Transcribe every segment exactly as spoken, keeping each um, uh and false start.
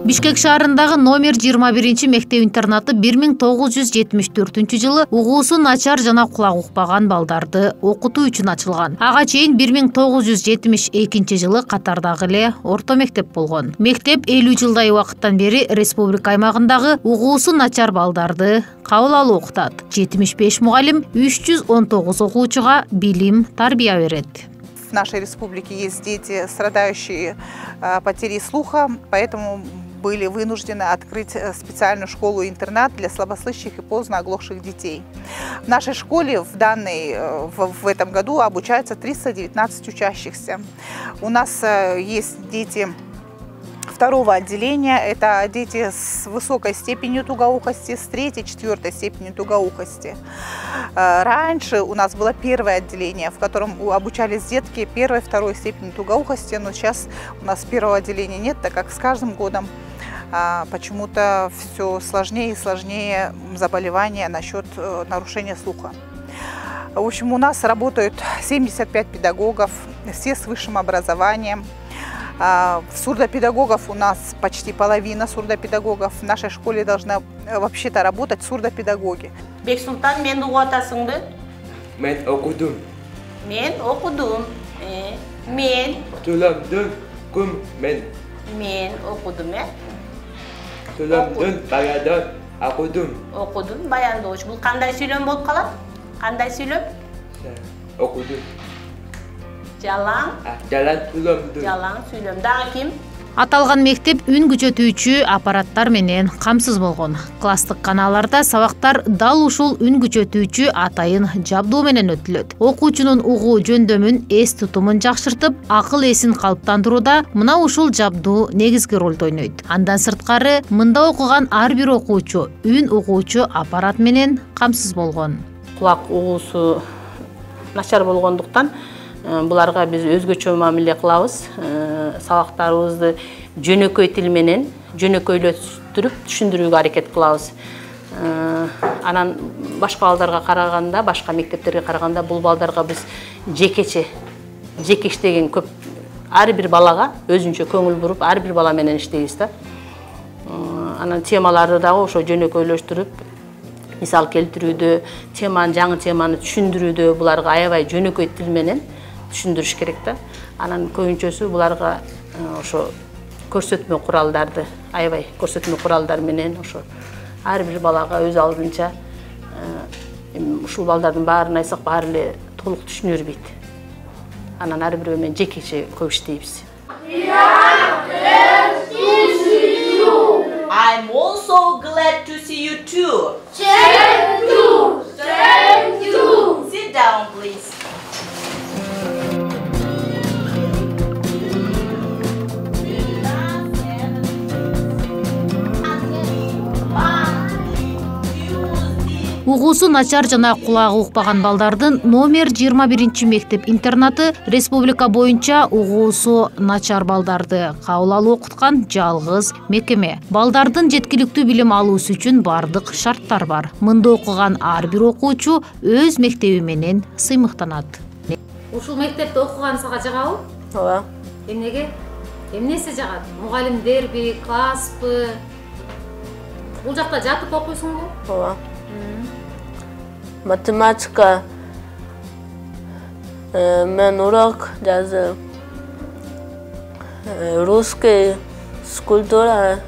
Бишкек шаарындагы номер жыйырма биринчи мектеп-интернаты бир миң тогуз жүз жетимиш төртүнчү жылы угуусу начар жана кулак укпаган балдарды окутуу үчүн ачылган. Ага чейин бир миң тогуз жүз жетимиш экинчи жылы катардагы эле орто мектеп болгон. Мектеп элүү жылдай убакыттан бери республика аймагындагы угуусу начар балдарды кабыл алып окутат. жетимиш беш мугалим үч жүз он тогуз окуучуга билим, тарбия берет. В нашей республике есть дети, страдающие потерей слуха, поэтому были вынуждены открыть специальную школу-интернат для слабослышащих и поздно оглохших детей. В нашей школе в, данной, в, в этом году обучаются триста девятнадцать учащихся. У нас есть дети второго отделения, это дети с высокой степенью тугоухости, с третьей, четвертой степенью тугоухости. Раньше у нас было первое отделение, в котором обучались детки первой, второй степени тугоухости, но сейчас у нас первого отделения нет, так как с каждым годом почему-то все сложнее и сложнее заболевания насчет нарушения слуха. В общем, у нас работают семьдесят пять педагогов, все с высшим образованием. Сурдопедагогов у нас почти половина сурдопедагогов. В нашей школе должны вообще-то работать сурдопедагоги. Бексултан, мен угуп атасыңбы? Мен окудум. Мен окудум. Мен Туламдын кум мен. Мен окудум, э? Туламдын баядан окудум. Окудум, баяндоочу. Бул кандай сүйлөм болуп калат? Кандай сүйлөм? Окудум. Жалаң. Жалаң сүйлөмдү. Жалаң сүйлөм. Дагы ким? Аталган мектеп үн күчөтүүчү аппараттар менен камсыз болгон. Класстык каналlarda сабактар дал ушул үн күчөтүүчү атайын жабдуу менен өтүлөт. Окуучунун угуу жөндөмүн, эс тутумун жакшыртып, акыл эсин калыптандырууда мына ушул жабдуу негизги ролду ойнойт. Андан сырткары, мында окуган ар бир окуучу үн угуучу аппарат менен камсыз болгон. Кулак угуусу начар болгондуктан буларга биз өзгөчө мамиле кылабыз. Сабактарыбызды жөнөкөй тил менен жөнөкөйлөштүрүп түшүндүрүүгө аракет кылабыз. Анан башка балдарга караганда, башка мектептерге караганда бул балдарга биз жекече жеке иштеген көп, ар бир балага өзүнчө көңүл буруп, ар бир бала менен иштейбиз да. Анан темаларды дагы ошо жөнөкөйлөштүрүп, мисал келтирүүдө, теманы, жаңы теманы түшүндүрүүдө буларга аябай жөнөкөй тил менен түшүндүрүш керек да. Анан көбүнчөсү буларга ошо көрсөтмө куралдарды, аябай көрсөтмө куралдар менен ошо ар бир балага өз алдынча ушул балдардын баарын айтсак баары эле толук түшүнө бербейт. Анан ар бирөө менен жекече көп иштейбиз. I'm also glad to see you too. Thank you. Thank you. Sit down, please. Угуусу начар жана кулагы укпаган балдардын номер жыйырма биринчи мектеп-интернаты республика боюнча угуусу начар балдарды кабыл алып окуткан жалгыз мекеме. Балдардын жеткиликтүү билим алуусу үчүн бардык шарттар бар. Мында окуган ар бир окуучу өз мектеби менен сыймыктанат. Ушул мектепте окуган сага жагабы? Ооба. Эмнеге? Эмнеси жагат? Мугалимдерби, класспы? Бул жакта жатып окуйсуңбу? Ооба. Математика, мен урок жазып, русский, скульптура,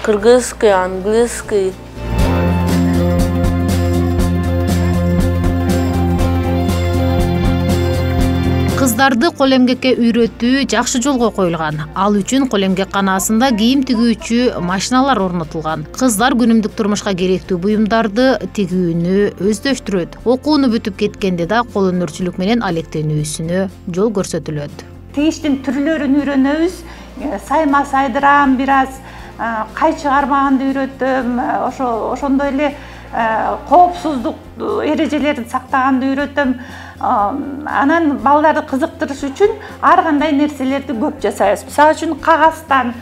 кыргызский, английский. Кыздарды кол эмгекке үйрөтүү жакшы жолго коюлган. Ал үчүн кол эмгек канаасында кийим тигүүчү машиналар орнотулган. Кыздар күнүмдүк турмушка керектүү буюмдарды тигүүнү өздөштүрөт. Окууну бүтүп кеткенде да кол өнөрчүлүк менен алектенүүсүнө жол көрсөтүлөт. Тигиштин түрлөрүн үйрөнөбүз. Сайма сайдырам, бир аз кай чыгармаганды үйрөтөм. Ошо ошондой эле коопсуздук эрежелерин сактаганды үйрөтөм. Анан балдарды кызыктырыш үчүн ар кандай нерселерди көп жасайбыз. Мисалы үчүн кагаздан,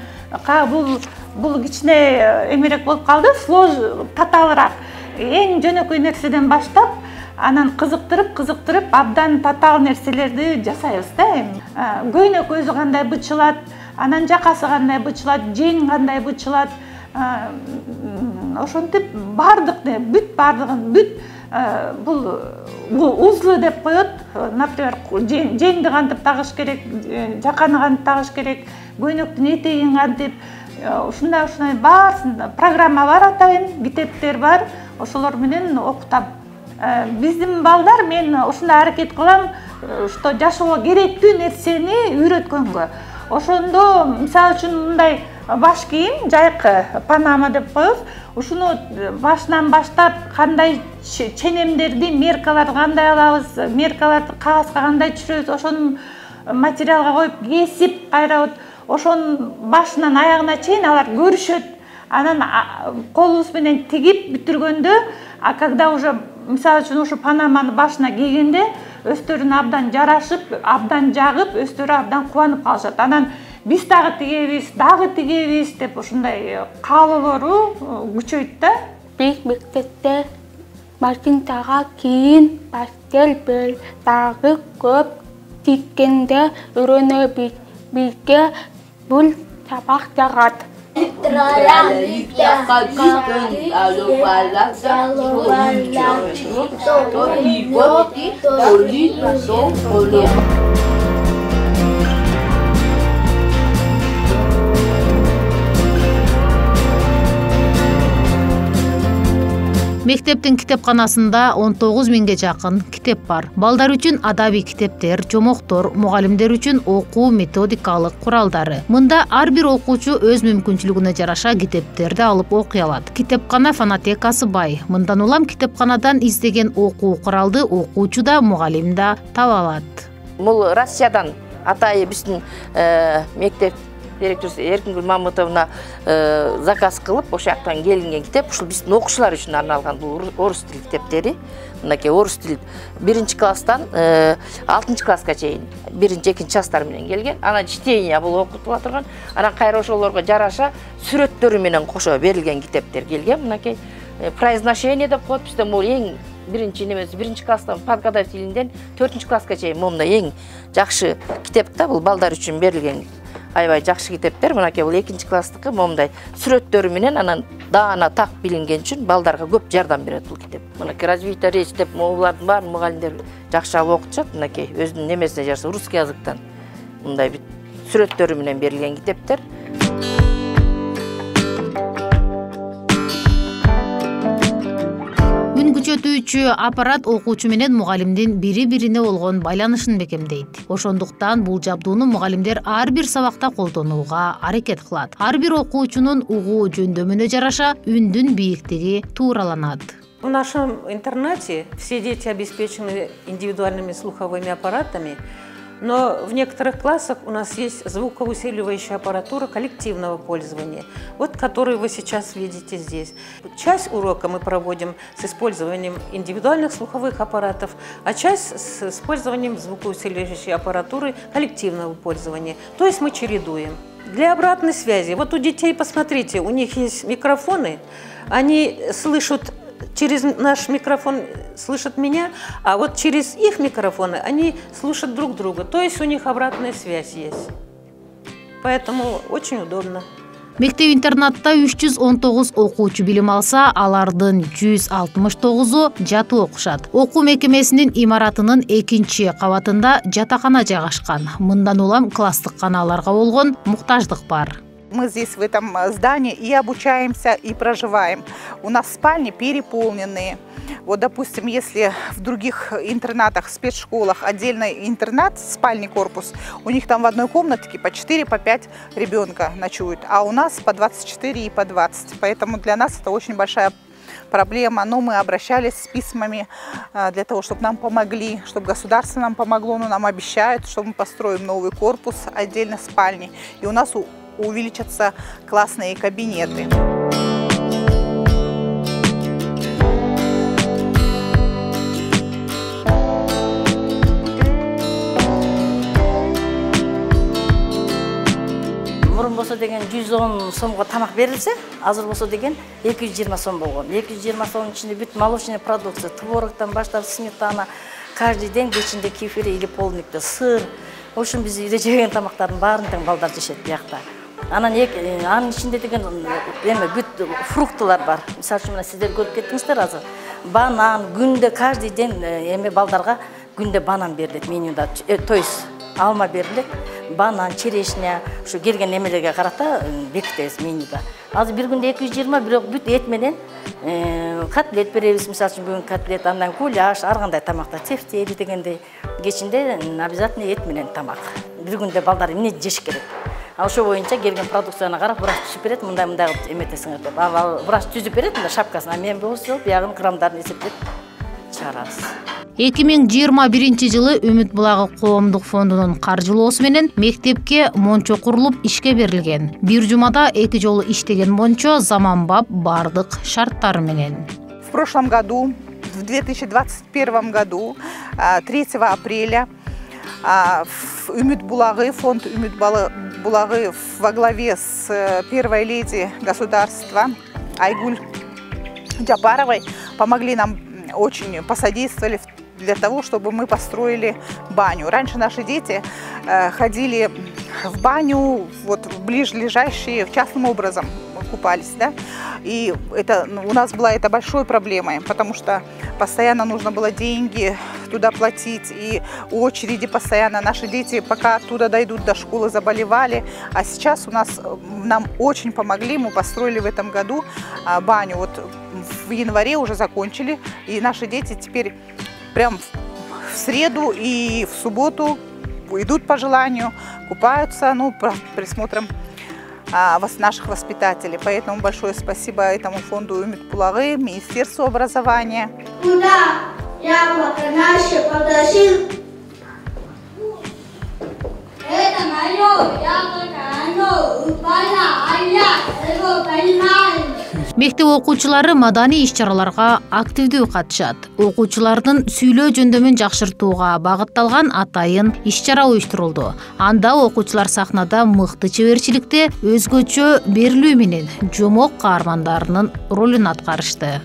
бул бул кичине эмерек болуп калды, слож татаалыраак. Эң жөнөкөй нерседен баштап анан кызыктырып кызыктырып абдан татаал нерселерди жасайбыз да эми. Көйнөк өзү кандай бычылат, анан жакасы кандай бычылат, жең кандай бычылат, ошентип баардык бүт баардыгын бүт бул узлы деп коет. Например, жеңди кантип тагыш керек, жаканы кантип тагыш керек, көйнөктүн этегин кантип, ушундай ушундай баарысын программа бар, атайын китептер бар, ошолор менен окутам. Биздин балдар, мен ушундай аракет кылам, что жашоого керектүү нерсени үйрөткөнгө. Ошондо мисалы үчүн мындай баш кийим, жайкы панама деп коебуз. Ушуну башынан баштап кандай ченемдерди, меркаларды кандай алабыз, меркаларды кагазга кандай түшүрөбүз, ошону материалга коюп кесип, кайра вот ошонун башынан аягына чейин алар көрүшөт. Анан колубуз менен тигип бүтүргөндө, а когда уже мисалы үчүн ушу панаманы башына кийгенде өздөрүнө абдан жарашып, абдан жагып, өздөрү абдан кубанып калышат. Анан биз дагы тигебиз, дагы тигебиз деп ушундай каалоолору күчөйт да. Биз мектепте машинтага кийин, пастель бел дагы көп тиккенде үйрөнөбүз. Бизге бул сабак жагат. Мектептин китепканасында он тогуз миңге жакын китеп бар. Балдар үчүн адабий китептер, жомоктор, мугалимдер үчүн окуу методикалык куралдары. Мында ар бир окуучу өз мүмкүнчүлүгүнө жараша китептерди алып окуй алат. Китепкана фонотекасы бай. Мындан улам китепканадан издеген окуу куралды окуучу да, мугалим да таба алат. Бул Россиядан атайы биздин мектеп директору Эркингүл Мамытовна заказ кылып, ошол жактан келинген китеп. Ушул биздин окуучулар үчүн арналган бул орус тили китептери. Мынакей орус тил биринчи класстан алтынчы класска чейин биринчи, экинчи класстар менен келген. Анан чтение бул окутула турган. Анан кайра ошолорго жараша сүрөттөрү менен кошо берилген китептер келген. Мынакей произношение деп коет. Бизде бул эң биринчи немеси биринчи класстан подготовить тилинден төртүнчү класска чейин момундай эң жакшы китеп да, бул балдар үчүн берилген. Аябай жакшы китептер. Мынакей бул экинчи класстыкы момундай сүрөттөрү менен анан даана так билинген үчүн балдарга көп жардам берет бул китеп. Мынакей развитие речи деп булардын баарын мугалимдер жакшы алып окутушат. Мынакей өзүнүн немесине жараша русский языктан мындай сүрөттөрү менен берилген китептер. Күчөтүүчү аппарат окуучу менен мугалимдин бири-бирине болгон байланышын бекемдейт. Ошондуктан бул жабдууну мугалимдер ар бир сабакта колдонууга аракет кылат. Ар бир окуучунун угуу жөндөмүнө жараша үндүн бийиктиги туураланат. В нашем интернате все дети обеспечены индивидуальными слуховыми аппаратами, но в некоторых классах у нас есть звукоусиливающая аппаратура коллективного пользования, вот которую вы сейчас видите здесь. Часть урока мы проводим с использованием индивидуальных слуховых аппаратов, а часть с использованием звукоусиливающей аппаратуры коллективного пользования. То есть мы чередуем. Для обратной связи, вот у детей, посмотрите, у них есть микрофоны, они слышат через наш микрофон, слышат меня, а вот через их микрофоны они слушают друг друга. То есть у них обратная связь есть. Поэтому очень удобно. Мектеп-интернатта үч жүз он тогуз окуучу билим алса, алардын жүз алтымыш тогузу жатуу окушат. Окуу мекемесинин имаратынын экинчи кабатында жатакана жайгашкан. Мындан улам класстык каналарга болгон муктаждык бар. Мы здесь в этом здании и обучаемся, и проживаем. У нас спальни переполненные. Вот, допустим, если в других интернатах, спецшколах отдельный интернат, спальный корпус, у них там в одной комнатке по четыре, по пять ребенка ночуют, а у нас по двадцать четыре и по двадцать. Поэтому для нас это очень большая проблема. Но мы обращались с письмами для того, чтобы нам помогли, чтобы государство нам помогло, но нам обещают, что мы построим новый корпус, отдельно спальни. И у нас увеличатся классные кабинеты. мурун болсо деген жүз он сомго тамак берилсе, азыр болсо деген эки жүз жыйырма сом болгон. эки жүз жыйырма сомдун ичинде бүт молочный продукция, творогтон баштап сметана, каждый день кечинде кефир или полникте сыр. В общем, биз үйдө жеген тамактардын баарын тең балдар жешет биякта. Анан анын ичинде деген эме бүт фруктылар бар. Мисалы үчүн мына сиздер көрүп кеттиңиздер азыр. Банан күндө каждый день эме балдарга күндө банан берилет менюда. То есть алма берилет, банан, черешня, ушу келген эмелерге карата бекитебиз менюда. Азыр бир күндө эки жүз жыйырма, бирок бүт эт менен котлет беребиз. Мисалы үчүн бүгүн котлет, андан гуляш, ар кандай тамакта, тефтели дегендей. Кечинде обязательно эт менен тамак. Бир күндө балдар эмне жеш керек. Ал ошо боюнча келген продукцияны карап, врач түзүп берет, мындай мындай кылып эметесиңер деп. Ал врач түзүп берет, мында шапкасын, а мен болсо биягын граммдарын эсептеп чыгарабыз. эки миң жыйырма биринчи жылы Үмүт булагы коомдук фондунун каржылоосу менен мектепке мончо курулуп ишке берилген. Бир жумада эки жолу иштеген мончо заманбап бардык шарттары менен. В прошлом году, в две тысячи двадцать первом году, третьего апреля, в Үмүт булагы, фонд Үмүт булагы во главе с первой леди государства Айгуль Джапаровой помогли нам, очень посодействовали для того, чтобы мы построили баню. Раньше наши дети ходили в баню, вот в ближайшие, частным образом купались, да, и это у нас была это большой проблемой, потому что постоянно нужно было деньги туда платить, и очереди постоянно. Наши дети, пока оттуда дойдут до школы, заболевали, а сейчас у нас, нам очень помогли, мы построили в этом году баню, вот в январе уже закончили, и наши дети теперь прям в среду и в субботу идут по желанию, купаются, ну, под присмотром а, наших воспитателей. Поэтому большое спасибо этому фонду Үмүт булагы, Министерству образования. Куда яблоко наше подошел? Это мое яблоко, оно упало, а я его поймал. Мектеп окуучулары маданий иш-чараларга активдүү катышат. Окуучулардын сүйлөө жөндөмүн жакшыртууга багытталган атайын иш-чара уюштурулду. Анда окуучулар сахнада мыкты чеберчиликте өзгөчө берилүү менен жомок каармандарынын ролун аткарышты.